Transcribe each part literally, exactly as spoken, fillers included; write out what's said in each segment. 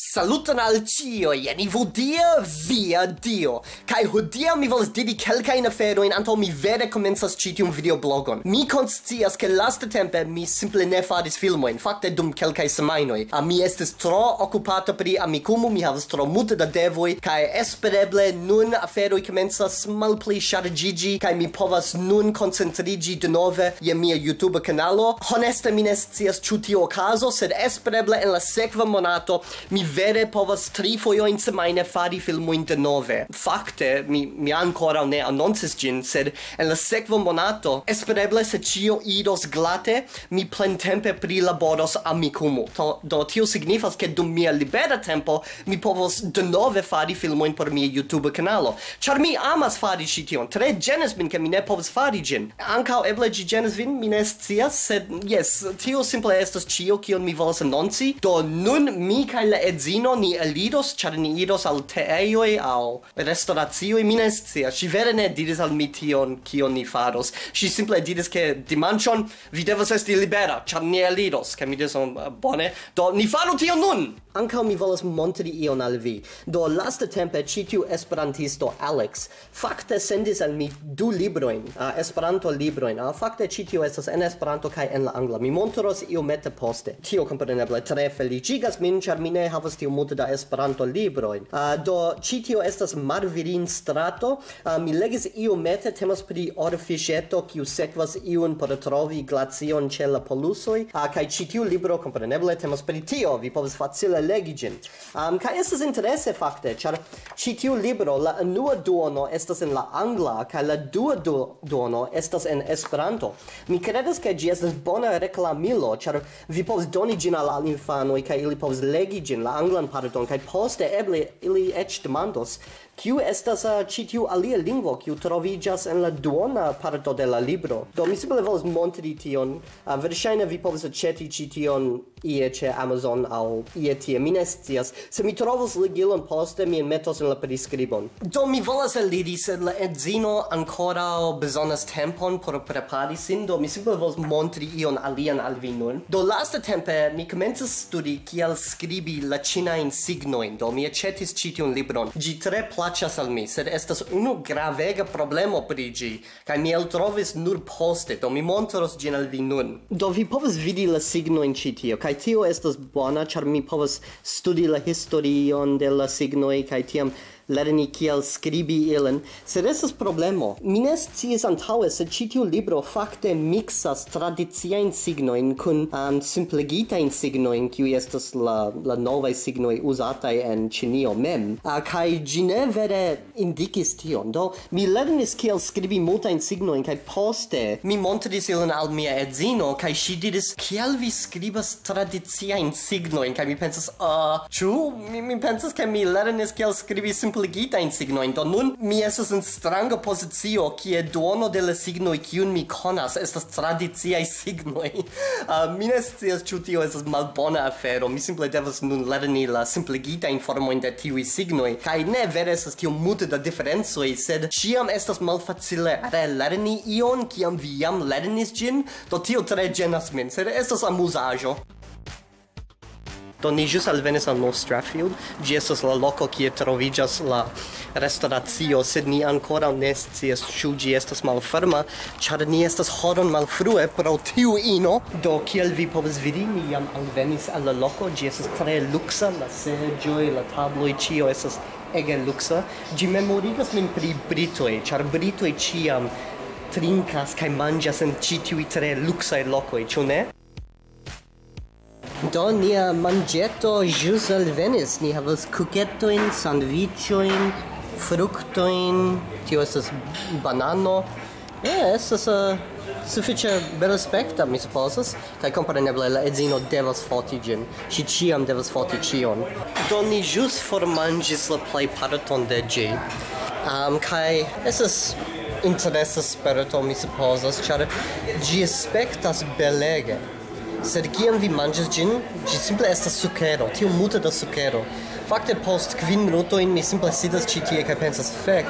Saluton al cioi, ni vodia via Dio. Kai hodia mi volas diri kelkajn aferojn antaŭ mi vere komencas ĉi tiun videoblogon. Mi konscias, ke lastatempe mi simple ne faris filmojn. Fakte dum kelkaj semajnoj. A mi estis tro okupata pri Amikumu, mi havas tro multe da devoj, kaj espereble nun aferoj komencas malpli ŝarĝiĝi, kaj mi povas nun koncentriĝi denove je mia YouTube kanalo. Honeste mi ne scias ĉu tio okazo, sed espereble en la sekva monato mi vere povas tri fojojn semajne fari filmojn denove. Fakte, mi, mi ankoraŭ ne anoncis ĝin, sed en la sekva monato, espereble se ĉio iros glate, mi plentempe prilaboros Amikumu. To, do tio signifas, ke dum mia libera tempo mi povos denove fari filmojn por mia YouTube kanalo. Ĉar mi amas fari ĉi tion. Tre ĝenas min, ke mi ne povas fari ĝin. Ankaŭ eble ĝi ĝenas vin, mi ne scias, sed jes, tio simple estas ĉio, kion mi volas anonci. Do nun mi kaj la edzino ni eliros, ĉar ni iros al teejoj aŭ restoracioj, mi ne scias. Ŝi vere ne diris al mi tion, kion ni faros. Ŝi simple diris, ke dimanĉon vi devas esti libera, ĉar ni eliros, kaj mi diris, "Oh, bone, do ni faru tion nun!" Ankaŭ mi volas montri ion al vi. Do lastatempe ĉi tiu esperantisto Alex fakte sendis al mi du librojn, uh, Esperanto-librojn. Uh, fakte ĉi tio estas en Esperanto kaj en la angla. Mi montros iomete poste. Tio kompreneble tre feliĉigas min, ĉar mi ne havas tiom multe da Esperanto-librojn. Uh, do ĉi tio estas Marvirin-strato. Uh, mi legis iomete, temas pri orfiŝeto, kiu sekvas iun por trovi glacion ĉe la polusoj. Uh, kaj ĉi tiu libro kompreneble temas pri tio. Vi povas facile legi ĝin. Um, kaj estas interese fakte, ĉar ĉi tiu libro, la unua duono estas en la angla, kaj la dua du-, duono estas en Esperanto. Mi kredas, ke ĝi estas bona reklamilo, ĉar vi povas doni ĝin al, al infanoj, kaj ili povas legi ĝin, la anglan parton, kaj poste eble ili eĉ demandos, kiu estas, uh, ĉi tiu alia lingvo, kiu troviĝas en la duona parto de la libro. Do mi simple volas montri tion. Uh, verŝajne vi povas aĉeti ĉi tion ie ĉe Amazon aŭ ie tie, mi ne scias. Se mi trovos ligilon poste, mi enmetos en la priskribon. Do mi volas eliri, sed la edzino ankoraŭ bezonas tempon por prepari sin, do mi simple volas montri ion alian al vi nun. Do lastatempe mi komencas studi kiel skribi la ĉinajn signojn, do mi aĉetis ĉi tiun libron. Ĝi tre plaĉas al mi, sed estas unu gravega problemo pri ĝi, kaj mi eltrovis nur poste, do mi montros ĝin al vi nun. Do vi povas vidi la signojn ĉi tio, kaj tio estas bona, ĉar mi povas studi la historion de la signoj, kaj tiam lerni kiel skribi ilin. Sed estas problemo. Mi ne sciis antaŭe, sed ĉi tiu libro fakte miksas tradiciajn signojn kun, um, simpligitajn signojn, kiuj estas la, la novaj signoj uzataj en Ĉinio mem. Uh, kaj ĝi ne vere indikis tion. Do, mi lernis kiel skribi multajn signojn, kaj poste mi montris ilin al mia edzino, kaj ŝi diris, "Kiel vi skribas tradiciajn signojn?" Kaj mi pensas, "Uh, ĉu?" Mi, mi pensas, ke mi lernis kiel skribi simpligitajn signojn. Do nun mi estas en stranga pozicio, kie duono de la signoj, kiun mi konas, estas tradiciaj signoj. Uh, mi ne scias, ĉu tio estas malbona afero. Mi simple devas nun lerni la simpligitajn formojn de tiuj signoj. Kaj ne vere estas tiom multe da diferencoj, sed ĉiam estas malfacile relerni ion, kiam vi jam lernis ĝin. Do tio tre ĝenas min, sed estas amuzaĵo. Do ni ĵus alvenis al North Strathfield. Ĝi estas la loko, kie troviĝas la restoracio, sed ni ankoraŭ ne scias, ĉu ĝi estas malferma, ĉar ni estas horon malfrue pro tiu ino. Do, kiel vi povas vidi, ni jam alvenis al la loko. Ĝi estas tre luksa, la seĝoj, la tabloj, ĉio estas ege luksa. Ĝi memorigas min pri britoj, ĉar britoj ĉiam trinkas kaj manĝas en ĉi tiuj tre luksaj lokoj, ĉu ne? Do, nia manĝeto ĵus alvenis. Ni havas kuketojn, sandviĉojn, fruktojn. Tio estas banano. Ja, estas, eh, sufiĉe belaspekta, mi supozas. Kaj kompreneble la edzino devas foti ĝin. Ŝi ĉiam devas foti ĉion. Do, ni ĵus formanĝis la plejparton de ĝi. Am, kaj estas interesa sperto, mi supozas, ĉar ĝi aspektas belege. Sed kiam vi manĝas ĝin, ĝi simple estas sukero, tiom multe da sukero. Fakte, post kvin minutojn mi simple sidas ĉi tie kaj pensas, "Fek,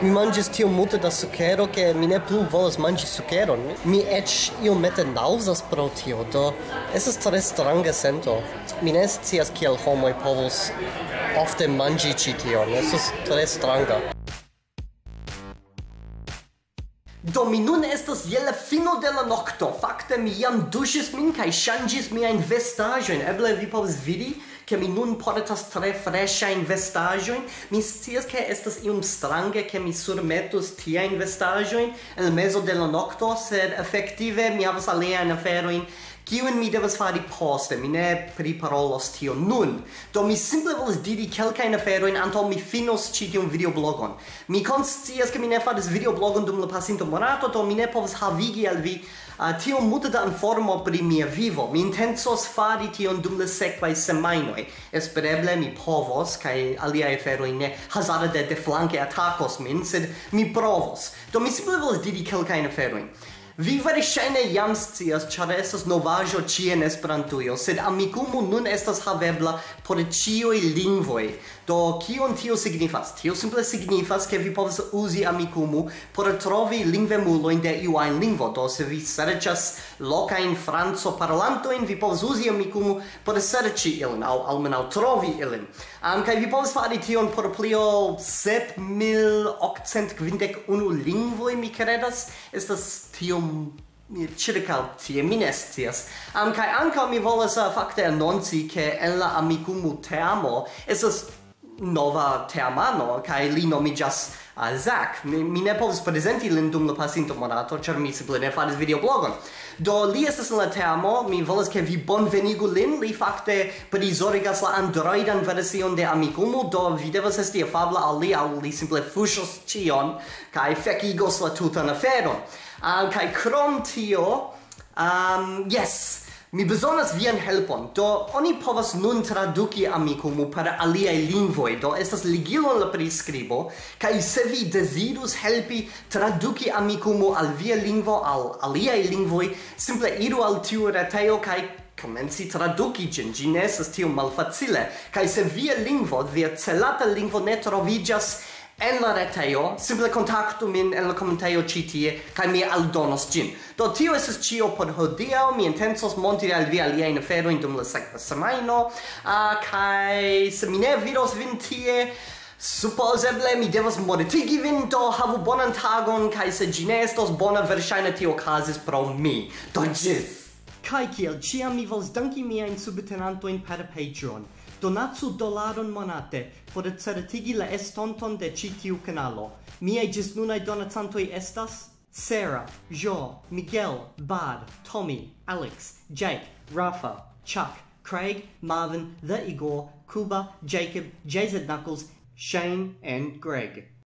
Mi manĝis tiom multe da sukero, ke mi ne plu volas manĝi sukeron. Mi eĉ iomete naŭzas pro tio, do estas tre stranga sento. Mi ne scias, kiel homoj povus ofte manĝi ĉi tion. Estas tre stranga. Do mi nun estas je la fino de la nokto. Fakte mi jam duŝis min kaj ŝanĝis miajn vestaĵojn. Eble vi povas vidi, ke mi nun portas tre freŝajn vestaĵojn. Mi scias, ke estas iom strange, ke mi surmetus tiajn vestaĵojn en mezo de la nokto, sed efektive mi havas aliajn aferojn, kiujn mi devas fari poste. Mi ne priparolos tion nun. Do mi simple volas diri kelkajn aferojn antaŭ mi finos ĉi tiun videoblogon. Mi konscias, ke mi ne faris videoblogon dum la pasinta monato, do mi ne povas havigi al vi, ah, tiom multe da informo pri mia vivo. Mi intencos fari tion dum la sekvaj semajnoj. Espereble mi povos, kaj aliaj aferoj ne hazarde deflanke atakos min, sed mi provos. Do mi simple volas diri kelkajn aferojn. Vi verŝajne jam scias, ĉar estas novaĵo ĉie en Esperantujo, sed Amikumu nun estas havebla por ĉiuj lingvoj. Do kion tio signifas? Tio simple signifas, ke vi povas uzi Amikumu por trovi lingvemulojn de iu ajn lingvo. Do se vi serĉas lokajn francoparolantojn, vi povas uzi Amikumu por serĉi ilin, aŭ almenaŭ trovi ilin. Am, kaj vi povas fari tion por pli ol sep mil okcent kvindek unu lingvoj, mi kredas. Estas tiom, mi, ĉirkaŭ tie, mi ne scias. Am, kaj ankaŭ mi volas, ah, fakte anonci, ke en la Amikumu teamo estas nova teamano, kaj li nomiĝas, ah, Zach. Mi, mi ne povas prezenti lin dum la pasinta monato, ĉar mi simple ne faris videoblogon. Do li estas en la teamo, mi volas, ke vi bonvenigu lin. Li fakte prizorigas la Androidan version de Amikumu, do vi devas esti afabla al li, aŭ li simple fuŝos ĉion kaj fekigos la tutan aferon. Ah, kaj krom tio, um, jes, mi bezonas vian helpon. Do oni povas nun traduki Amikumu per aliaj lingvoj. Do estas ligilo en la priskribo, kaj se vi dezirus helpi traduki Amikumu al via lingvo, al aliaj lingvoj, simple iru al tiu retejo kaj komenci traduki ĝin. Ĝi ne estas tiom malfacile. Kaj se via lingvo, via celata lingvo ne troviĝas en la retejo, simple kontaktu min en la komentejo ĉi tie, kaj mi aldonos ĝin. Do tio estas ĉio por hodiaŭ. Mi intencos montri al vi aliajn aferojn dum la sekva semajno. Ah, kaj se mi ne vidos vin tie, supozeble mi devas mortigi vin, do havu bonan tagon, kaj se ĝi ne estos bona, verŝajne tio okazis pro mi. Do ĝis! Kaj kiel ĉiam, mi volas danki miajn subtenantojn per Patreon. Donacu dolaron monate por certigi la estonton de ĉi tiu kanalo. Miaj ĝisnunaj donacantoj estas Sarah, Jo, Miguel, Bad, Tommy, Alex, Jake, Rafa, Chuck, Craig, Marvin, The Igor, Kuba, Jacob, J Z Knuckles, Shane, and Greg.